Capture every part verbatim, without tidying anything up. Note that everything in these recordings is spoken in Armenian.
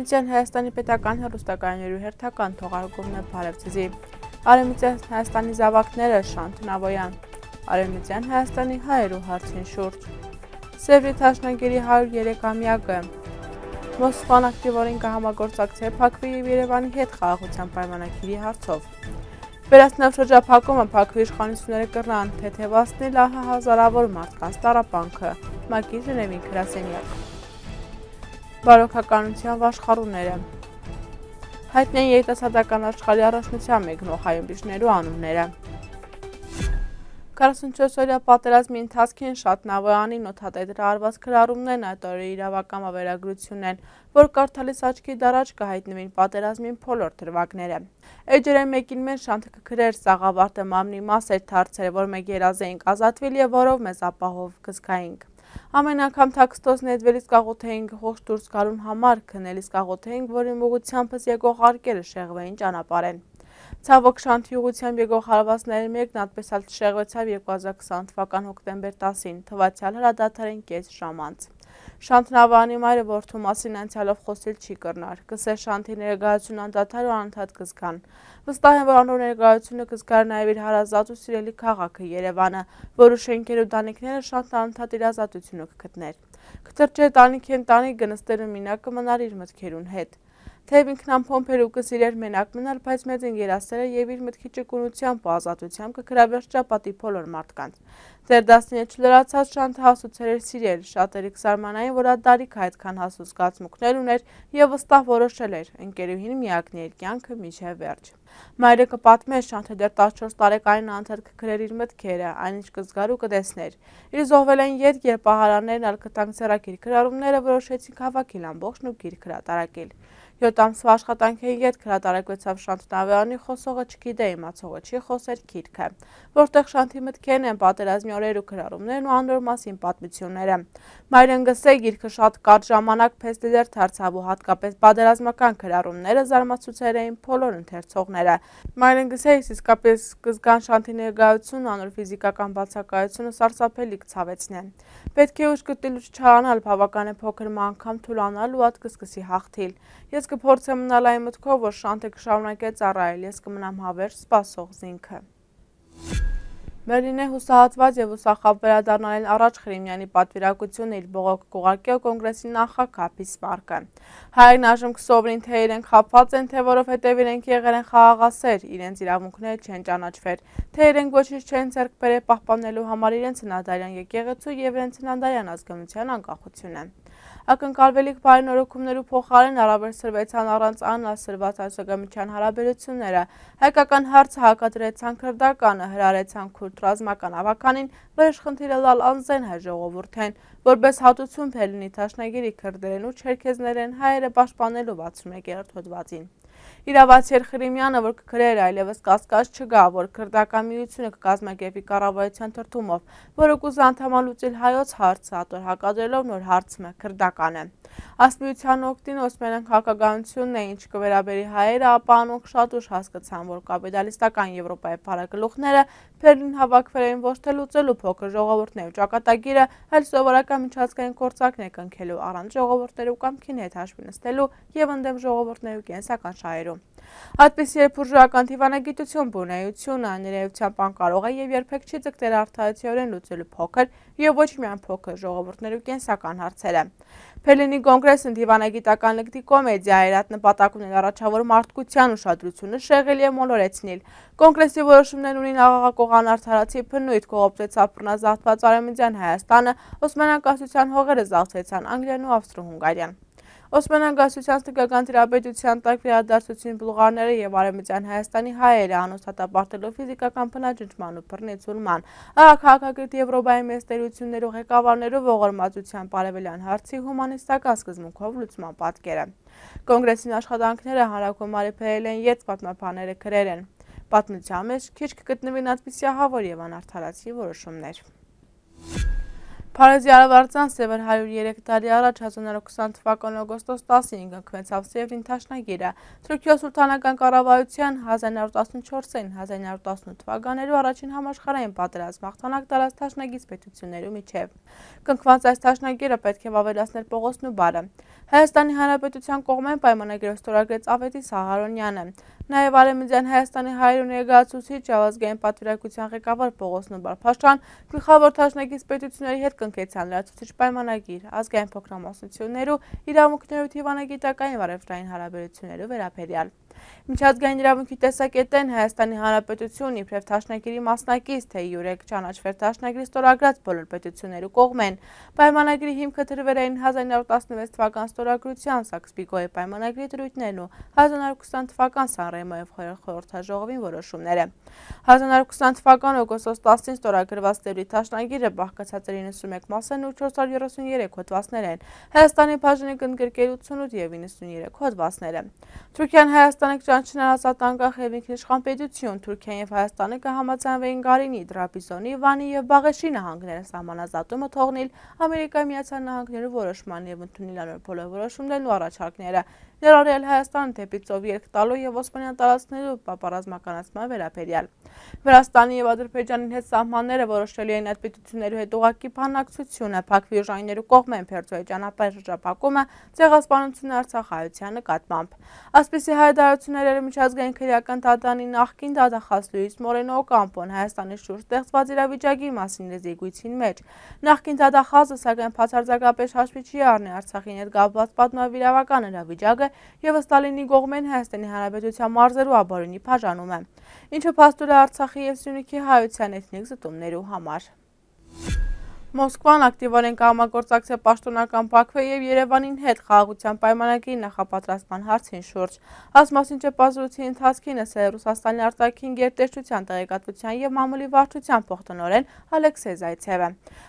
Արևմտյան Հայաստանի պետական հեռուստակայաններու հերթական թողարկումն է Բարևձեզի։ Արևմտյան Հայաստանի զավակները Շանթ Նավոյան։ Արևմտյան Հայաստանի հայերու հարցին շուրջ։ Սևրի Թաշնագերի հարյուր երեկամյակը։ Մոսկվան ակտիվորեն կհամագործակցի Փաքվի և Երևանի հետ խաղաղության պայմանագիրի հարցով։ Վերացնավ շրջափակումը Փաքվի իշխանությունները կռան թեթևացնել ահա հազարավոր մարդկանց տառապանքը։ ՄԱԿ-ի Ժնևին գրասենյակ։ Բարոյական վաշխառուները։ Հայտնի են երիտասարդական աշխարհի առաջնության մեկնող հայրենիքներու անունները։ քառասունչորս-օրյա պատերազմի ընթացքին Շանթ Նավոյանին օդատետրը արված քրարումներն այդ օրերի իրավական ավերագրությունն են, որ կարդալիս աչքի դարաջ կհայտնվին պատերազմին փոլոր դրվագները։ Էջերեն մեկին մեզ Շանթը կքրեր սաղավարտը մամնի մաս էր դարձել, որ մեկ երազեինք ազատվել և որով մեզ ապահով կզգայինք։ Ամեն անգամ թաքստոց նետվելիս կաղոթեինք ողջ դուրս գալուն համար, քնելիս կաղոթեինք, որ իմ ուղղությամբս եկող արկերը շեղվեին ճանապարհեն։ Ցավոք Շանթի ուղղությամբ եկող հարվածների մեկն այդպես էլ շեղվեցավ երկու հազար քսան թվական հոկտեմբեր տասին, թվացյալ հրադադարին կես ժամ անց։ Շանթ Նավոյանի մայրը որդու մասին անցյալով խոսել չի կրնար, կսեր Շանթի ներկայությունը անդադար ու անընդհատ կզգան։ Վստահ են, որ անոր ներկայությունը կզգար նաև իր հարազատ ու սիրելի քաղաքը Երևանը, որու շենքեր ու տանիքները Շանթն անընդհատ իր ազատությունը կգտներ։ Կտրճեր տանիքի ընտանիք գնստելու մինակ կմնար իր մտքերուն հետ։ Թեև ինքն ամփոփեր ու կսիրեր մենակ մնալ, բայց մեծ ընկերասերը և իր մտքի ճկունությամբ ու ազատությամբ կգրավեր շրջապատի բոլոր մարդկանց։ Դեռ տասնյոթ չլրացած Շանթը հասուցեր էր սիրել, շատերը կզարմանային, որ ադարիքը այդքան հասու զգացմունքներ ուներ և վստահ որոշել էր ընկերուհին միակն իր կյանքը մինչև վերջ։ Մայրը կպատմեր, Շանթը դեռ տասնչորս տարեկանին անընդհատ կգրեր իր մտքերը, այնինչ կզգար ու կտեսներ։ Իր զոհվելեն ետ, երբ պահարաններն ալ կտանք ձեռագիր գրառումները որոշեցինք հավաքել ամբողջն ու գիրք հրատարակել։ Յոթ ամսվա աշխատանքի ետ հրատարակվեցավ Շանթ Նավոյանի խոսողը չգիտե իմացողը չի խոսեր գիրքը, որտեղ Շանթի մտքերն են պատերազմի օրեր ու գրառումներն ու անոր մասին պատմությունները։ Մայրեն գսե գիրքը շատ կարճ ժամանակ փեստեդեր դարձավ ու հատկապես պատերազմական գրառումները զարմացուցեր էին բոլոր ընթերցողները։ Մայրեն գսե իսկապես կզգան Շանթի ներկայությունն անոր ֆիզիկական բացակայությունը սարսափելի կցավեցնեն։ Պետք է ուժ գտնել ու չչարանալ, բավական է փոքր անգամ թուլանալ ու ատ կսկսի հաղթիլ։ Ես կփորձեմ մնալ այն մտքով, որ Շանթը կշարունակե ծառայել, ես կմնամ հավերժ սպասող զինքը։ Բերլինե հուսահատված և ուսախավ վերադառնալին առաջ Խրիմյանի պատվիրակությունը իր բողոքը կուղարկել կոնգրեսի նախագահ Բիսմարկը։ Հայերն այժմ կսովորին, թե իրենք խաբված են, թե որովհետև իրենք եղել են խաղաղասեր, իրենց իրավունքները չեն ճանաչվեր, թե իրենք ոչինչ չեն ձեռք բերել պահպանելու համար իրենց հնադարյան եկեղեցու և իրենց հնադարյան ազգանության անկախությունը։ Ակնկալվելիք բարենորոգումներու փոխարեն առավել սրվեցան առանց անասրված այսօգամության հարաբերությունները, հայկական հարցը հակադրեցան քրդականը, հրարեցան քուրդ ռազմական ավականին, վրեժխնդիրը լալ անզեն հայ ժողովուրդեն, որպես հատուցում Բերլինի Թաշնագերի քրդերեն ու չերքեզներեն հայերը պաշտպանելու վաթսունմեկերորդ հոդվածին։ Իրավացի Խրիմյանը, որ կգրեր այլևս կասկած չկա, որ քրդական միությունը կկազմակերպի կառավարության թրթումով, որը կուզի անդամալուծել հայոց հարցը, ատոր հակադրելով նոր հարցը քրդականը։ Այս միության օգտին Օսմանյան քաղաքականությունն է, ինչ կվերաբերի հայերը, ապա անոնք շատ ուշ հասկացան, որ կապիտալիստական Եվրոպայի փառագլուխները Բերլին հավաքվել էին ոչ թե լուծելու փոքր ժողովուրդներու ճակատագիրը, այլ սովորական միջազգային գործակներ կնքելու առանց ժողովուրդներու կամքին հետ հաշվի նստելու և ընդդեմ ժողովուրդներու կենսական շահերու։ Այդպես երբ բուրժուական դիվանագիտություն բունեությունը ներեյությամբ անկարող է և երբեք չի ձգտել արդարացիորեն լուծելու փոքր և ոչ միայն փոքր ժողովուրդներու կենսական հարցերը։ Բերլինի կոնգրեսն դիվանագիտական լկտի կոմեդիա էր, այդ նպատակ ունել առաջավոր մարդկության ուշադրությունը շեղել և մոլորեցնել։ Կոնգրեսի որոշումներն ունին աղաղակող անարդարացի բնույթ, կողոպտեցավ բռնազավթված Արևմտյան Հայաստանը, Օսմանյան կայսրության հողերը զավթեցան Անգլիան ու Ավստրո-Հունգարիան։ Օսմանյան կայսրության թկական տիրապետության տակ վերադարձուցին բուլղարները և Արևմտյան Հայաստանի հայերը, անոնց դատապարտելով ֆիզիկական բնաջնջման ու բռնեցուլման, ահագահակագրտ Եվրոպայի մեծ տերություններու ղեկավարներու ողորմածության արևելյան հարցի հումանիստական սկզբունքով լուծման պատկերը։ Կոնգրեսին աշխատանքները հանրագումարի բերել են ետ պատմաբանները գրել են։ Պատմության մեջ քիչ կգտնվին այդպիսի ահավոր և անարդարացի որոշումներ։ Փարեզի Արավարձան Սևեր հարյուր երեք տարի առաջ հազար նորը ութ թվականի օգոստոս տասնինը կնքվեցավ Սևրին թաշնագիրը։ Թուրքիա սուլթանական կառավարության հազար նորը տասնչորսին հազար նորը տասնութ թվականներու առաջին համաշխարհային պատերազմ հաղթանակ տարած թաշնագից պետություններու միջև։ Կնքված այս թաշնագիրը պետք է վավերացներ Պողոս Նուբարը։ Հայաստանի Հանրապետության կողմեն պայմանագիրը ստորագրեց Ավետիս Ահարոնյանը։ Նաև Արևմտյան Հայաստանի հայրենի ներկայացուցիչ Ազգային պատվիրակության ղեկավար Պողոս Նուբար Փաշտան գլխավոր թաշնագից պետությունների հետ կնքեցան լրացուցիչ պայմանագիր ազգային փոքրամասնություններու իրավունքներու դիվանագիտական վարեվրային հարաբերություններու վերաբերյալ։ Միջազգային իրավունքի տեսակետեն Հայաստանի Հանրապետությունն իբրև թաշնագիրի մասնակից թե յուրեք ճանաչվեր թաշնագիրի ստորագրած բոլոր պետություններու կողմեն։ Պայմանագրի հիմքը դրվել էին հազար նորը տասնվեց թվական ստորագրության Սաքս-Պիկոյի պայմանագրի դրույթներն ու հազար նորը ութ թվական Սանրեմոյով խորհրդաժողովին որոշումները։ հազար նորը ութ թվական օգոստոս տասին ստորագրված Սևրի թաշնագիրը բաղկացած էր իննսունմեկ մասն ու չորս հարյուր երեսունյերեք հոդվածներ են, Հայաստանի բաժնի կընդգրկել ութսունութ եւ իննսունյերեք հոդվածները։ Թուրքիան Հայաստանը կճանաչեն ազատ անկախ եւ ինքնիշխան պետություն, Թուրքիան եւ Հայաստանը կհամաձայնվեին Գարինի, Տրապիզոնի, Վանի եւ Բաղեշի նահանգները սահմանազատումը թողնել Ամերիկայի Միացյալ Նահանգներու որոշման եւ ընդունել անոր բոլոր որոշումներն ու առաջարկները, ներառյալ Հայաստանը դեպի ծով ելք տալու եւ Օսմանյան տարածքներու պապարազմականացման վերաբերյալ։ Վրաստանի եւ Ադրբեջանի հետ սահմանները որոշելի են այդ պետություններու հետ ուղղակի բանակցությունը, Բաքվի ուժայիններու կողմեն Փերձոյի ճանապարհի շրջափակումը, ցեղասպանությունը Արցախայության նկատմամբ։ Այսպիսի հայտարարությունները միջազգային քրեական դատարանի նախկին դատախազ Լուիս Մորենո Օկամպոն Հայաստանի շուրջ ստեղծված իրավիճակի մասին զեկույցին մեջ։ Նախկին դատախազը սակայն բացարձակապես հաշվի չի առնի Արցախին հետ կապված պատմավիրավական իրավիճակը եւ Ստալինի կողմեն Հայաստանի Հանրապետության մարզերու ապօրինի բաժանումը, ինչը փաստուր է Արցախի եւ Սյունիքի հայության էթնիկ զտումներու համար։ Մոսկվան ակտիվորեն կհամագործակցի պաշտոնական Բաքվի եւ Երևանին հետ խաղաղության պայմանագրի նախապատրաստման հարցին շուրջ։ Այս մասին չպազրույցի ընթացքին ասել է Ռուսաստանի արտաքին գերտերչության տեղեկատվության եւ մամուլի վարչության փոխտնօրեն Ալեքսեյ Զայցևը։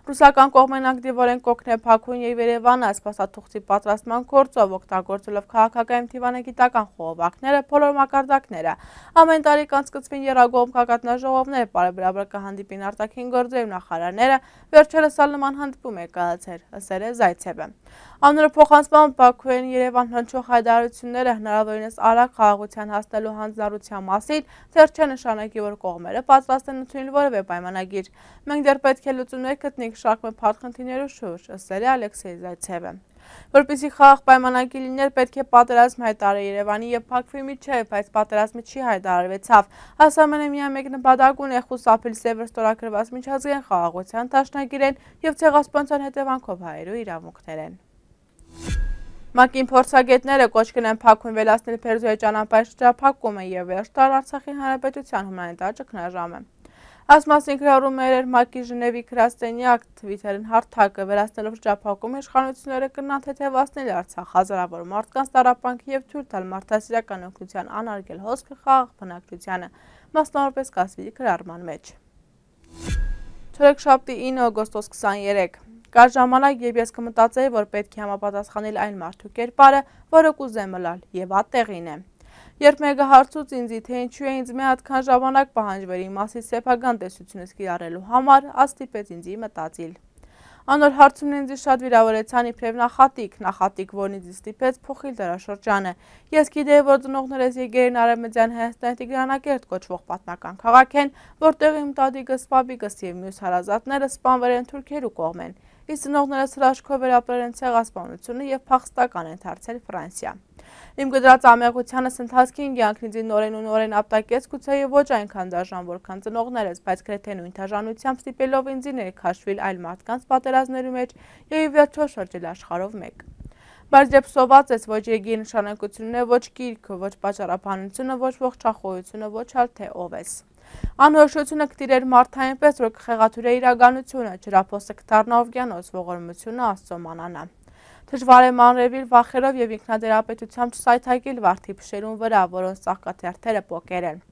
Ռուսական կողմեն ակտիվորեն կօգնե Բաքուն եւ Երևանը այս փաստաթուղթի պատրաստման գործով օգտագործելով քաղաքական դիվանագիտական խողովակները, բոլոր մակարդակները։ Ամեն տարի կանցկացվին եռագողմ գագաթնաժողովներ, բարեբրաբար կհանդիպին արտաքին գործերու նախարարները, վերջերս նման հանդիպում է կայացել, ասել է Զայցևը։ Անորը փոխանցմամբ Բաքվեն Երևան հնչող հայտարարությունները հնարավորինս արագ խաղաղության հասնելու հանձնառության մասին դեռ չեն նշանակի, որ կողմերը պատրաստ են ընդունել որևէ պայմանագիր։ Մենք դեռ պետք է լուծումներ գտնենք շարք փակ խնդիրներու շուրջ, ասել է Ալեքսեյ Զայցևը։ Որպեսզի խաղաղ պայմանագիր լիներ, պետք է պատերազմ հայտարարի Երևանի եւ Բաքվի միջեւ, բայց պատերազմը չի հայտարարվեցավ։ Հասարականը միայն մեկ նպատակ ունի խուսափել Սևր ստորագրված միջազգային խաղաղության դաշնագիրեն եւ ցեղասպանության հետևանքով հայերու իրավունքներեն։ ՄԱԿ-ին փորձագետները կոչ կնեն Բաքուն վերացնել Փերձոյի ճանապարհի շրջափակումը եւ վերջ տալ Արցախի Հանրապետության հումանիտար ճգնաժամը։ Այս մասին գրառումներ էր ՄԱԿ-ի Ժնևի գրասենյակ Թվիթերին հարթակը, վերացնելով շրջափակումը իշխանությունները կնան թեթևացնել Արցախ հազարավոր մարդկանց տառապանքի եւ թույլ տալ մարդասիրական օգնության անարգել հոսքը խաղաղ բնակչությանը, մասնավորապես կասվի գրառման մեջ։ Չորեքշաբթի ինը օգոստոս քսաներեք Կար ժամանակ, երբ ես կմտածեի, որ պետք է համապատասխանել այն մարդու կերպարը, որը կուզեմ մլալ, եւ ատեղին է։ Երբ մեկը հարցուց ինձի, թե ինչու է ինձ մի հատքան ժամանակ պահանջվել իմ մասի սեփական տեսությունից կիրառելու համար, ստիպեց ինձի մտածիլ։ Անոր հարցումն ինձ շատ վիրավորեցան իբրև նախատիկ, նախատիկ, որն ինձ ստիպեց փոխել դարաշրջանը։ Ես գիտեի, որ ծնողներս եկել են Արևմտյան Հայաստանի Տիգրանակերտ կոչվող պատմական քաղաք են, որտեղ իմ տատիկս, պապիկս եւ մյուս հարազատները սպանվել են թուրքերու կողմեն։ Իսկ ծնողներս հրաշքով վերապրել են ցեղասպանությունը եւ փախստական են դարձել Ֆրանսիա։ Իմ գդրած ամեղությանս ընթացքին կյանքն ինձ նորեն ու նորեն ապտակեց, գուցե ոչ այնքան դաժան, որքան ծնողներս, բայց գրեթե նույն դաժանությամբ ստիպելով ինձ ներքաշվել այլ մարդկանց պատերազմներու մեջ եւ ի վերջո շրջել աշխարհով մեկ։ Բայց երբ սոված ես ոչ եկի նշանակությունն է, ոչ գիրքը, ոչ պատճառաբանությունը, ոչ ողջախոհությունը, ոչ ալ թե ով ես։ Անհրաժեշտությունը կտիրեր մարդային պես, որ կխեղաթյուրե իրականությունը, ջրափոսը կդառնա օվկիանոս, ողորմությունը Աստծո մանանա։ Դժվար է մանրևիլ վախերով եւ ինքնադերապետությամբ չսայթակել վարդի փշերուն վրա, որոնց ծաղկաթերթերը պոկեր են։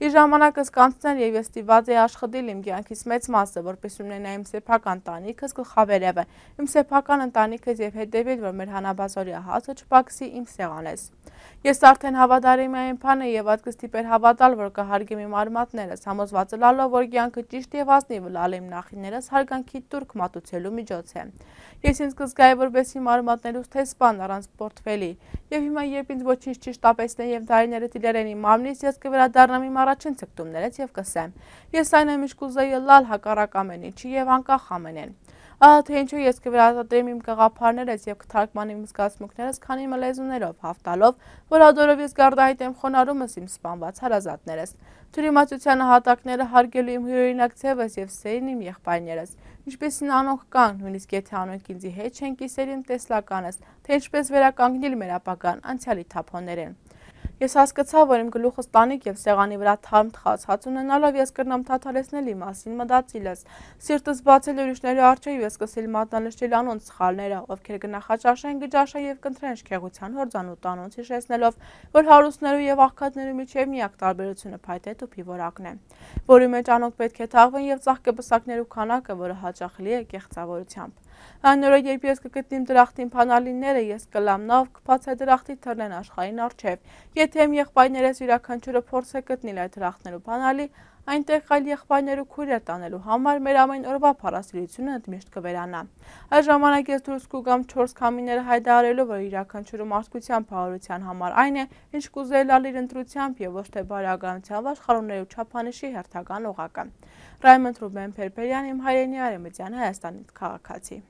Իր ժամանակս կանցներ եւ ես ստիված էի աշխատել իմ կյանքիս մեծ մասը, որպես ունենա իմ սեփական տանիքս գլխավերևը, իմ սեփական ընտանիքս եւ հետեւել, որ մեր հանաբազորյա հացը չպակսի իմ սեղանես։ Ես արդեն հավատալի եմ այն բանը եւ ատկս տիպեր հավատալ, որ կհարգեմ իմ արմատներս, համոզված լալով, որ կյանքը ճիշտ եւ ազնիվ լալ իմ նախիներս հարգանքի տուրք մատուցելու միջոց է։ Ես ինձ կզգայի որպես իմ արմատներուց թե սպան առանց պորտֆելի, եւ հիմա երբ ինձ ոչինչ չշտապեցնեն եւ տարիները տիլերեն իմ մարմնից, ես կվերադառնամ իմ առաջին ցկտումներից եւ կսեմ. ես այն եմ ինչ կուզեի լալ հակառակ ամեն ինչի եւ անկախ ամենեն։ Ահա թե ինչու ես կվերադառնամ իմ կղափարներս եւ կթարգմանեմ իմ զգացմունքներս քանի իմ լեզուներով, հաղթալով, որ ադորով ես գարդահայտեմ խոնարհումս իմ սպանված հարազատներս, թյուրիմացության հատակները հարգելու իմ հյուրօրինակ ձևս եւ սերին իմ եղբայրներս, ինչպեսին անոնք կան, նույնիսկ եթե անոնք ինձի հետ չեն կիսել իմ տեսլականս, թե ինչպես վերականգնել մեր ապագան անցյալի թափոններեն։ Ես հասկացա, որ իմ գլուխս տանիք եւ սեղանի վրա թարմ թխած հաց ունենալով ես կրնամ թաթարեցնել իմ մասին մտածիլս, սիրտս բացել ուրիշների առջեւ ես սկսել մատնանշել անոնց սխալները, ովքեր կնախաճաշեն, գճաշեն եւ կընտրեն շքեղության հորձանուտ անոնց հիշեցնելով, որ հարուստներու եւ աղքատներու միջեւ միակ տարբերությունը փայտե տուփի որակն է, որի մեջ անոնք պետք է թաղվեն եւ ծաղկեպսակներու քանակը, որը հաճախլի է կեղծավորությամբ։ Այն օրը, երբ ես կգտնիմ դրախտին փանալիները, ես կլամ նավ կբացե դրախտի թռնեն աշխարհին առջև։ Եթե իմ եղբայրներս յուրաքանչյուրը փորձ է գտնել այդ դրախտներու փանալի, այնտեղ այլ եղբայրներու քույրեր տանելու համար մեր ամեն օրվա փառասիրությունը ընդմիշտ կվերանա։ Այս ժամանակ ես դուրս կուգամ չորս քամիները հայտարարելու, որ յուրաքանչյուրը մարդկության փառության համար այն է, ինչ կուզեի լալ իր ընտրությամբ եւ ոչ թե բարեականությամբ աշխարհներու չափանիշի հերթական օղակը։ Ռայմոնդ Ռուբեն Փերփերյան, իմ հայրենի Արևմտյան Հայաստանի քաղաքացի։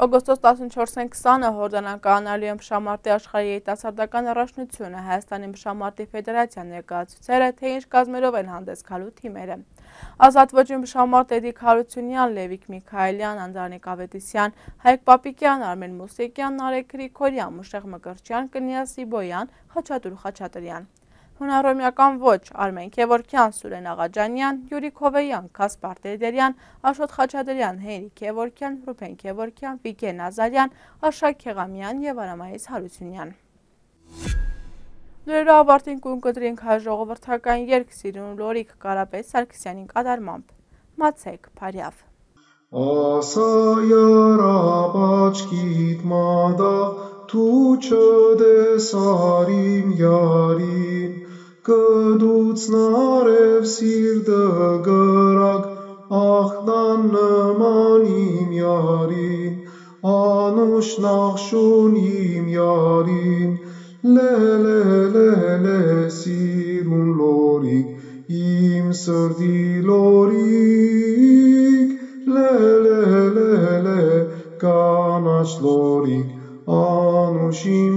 Օգոստոս տասնչորսին քսանը հորդանանկանալու եմ Մշամարտի աշխարհի երիտասարդական առաջնությունը, Հայաստանի Մշամարտի ֆեդերացիան ներկայացուցել է, թե ինչ կազմերով են հանդես գալու թիմերը։ Ազատ ոճի Մշամարտ Էդիկ Հարությունյան, Լևիկ Միքայելյան, Անդրանիկ Ավետիսյան, Հայկ Պապիկյան, Արմեն Մուսիկյան, Նարեկ Գրիգորյան, Մուշեղ Մկրտչյան, Կնյա Սիբոյան, Խաչատուր Խաչատրյան։ Հունարոմյական ոչ Արմեն Քևորքյան, Սուրեն Աղաջանյան, Յուրի Քովեյան, Կասպար Տերդերյան, Աշոտ Խաչատրյան, Հենրի Քևորքյան, Ռուբեն Քևորքյան, Վիգեն Ազարյան, Արշակ Քեղամյան եւ Արամայիս Հարությունյան։ Լուրերը ավարտին կունկտրենք հայ ժողովրդական երգ Սիրուն Լորիկ Կարապետ Սարգսյանին կատարմամբ։ Մացեք Փարյավ։ Ասա յարապ աչքիդ մադաղ Դու չտեսար իմ յարին, կդուցն արև սիրտը գրակ, ախնան նման իմ յարին, անուշ նախշուն իմ յարին, լե լե լե լե սիրուն լորիկ, իմ սրտի լորիկ, լե լե լե լե կանաչ լորիկ, Անուշ իմ